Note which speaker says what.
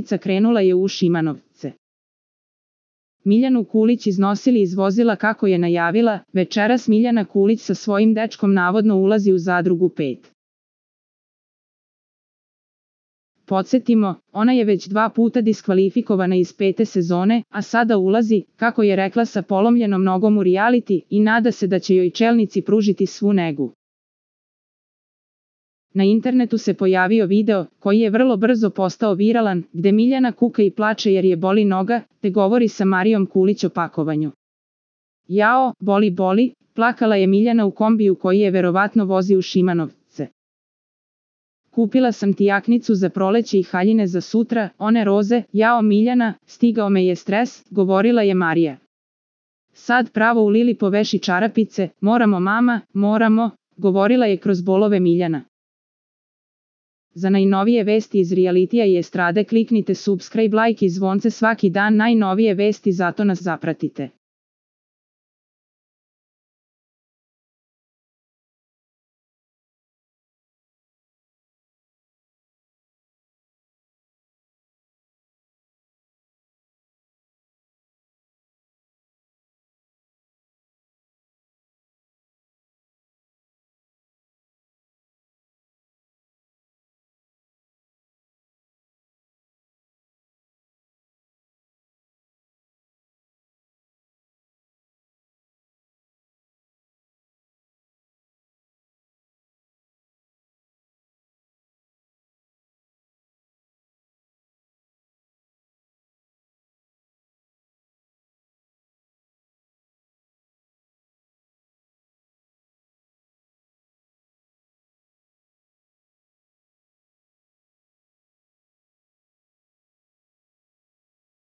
Speaker 1: čelnica krenula je u Šimanovce. Miljanu Kulić iznosili iz vozila kako je najavila, večeras Miljana Kulić sa svojim dečkom navodno ulazi u Zadrugu 5. Podsjetimo, ona je već 2 puta diskvalifikovana iz 5. sezone, a sada ulazi, kako je rekla, sa polomljenom nogom u reality i nada se da će joj čelnici pružiti svu negu. Na internetu se pojavio video, koji je vrlo brzo postao viralan, gde Miljana kuka i plače jer je boli noga, te govori sa Marijom Kulić o pakovanju. Jao, boli, plakala je Miljana u kombiju koji je verovatno vozi u Šimanovce. Kupila sam ti jaknicu za proleće i haljine za sutra, one roze, jao Miljana, stigao me je stres, govorila je Marija. Sad pravo u Lili poveši čarapice, moramo mama, moramo, govorila je kroz bolove Miljana. Za najnovije vesti iz realitija i estrade kliknite subscribe, like i zvonce svaki dan, najnovije vesti, zato nas zapratite.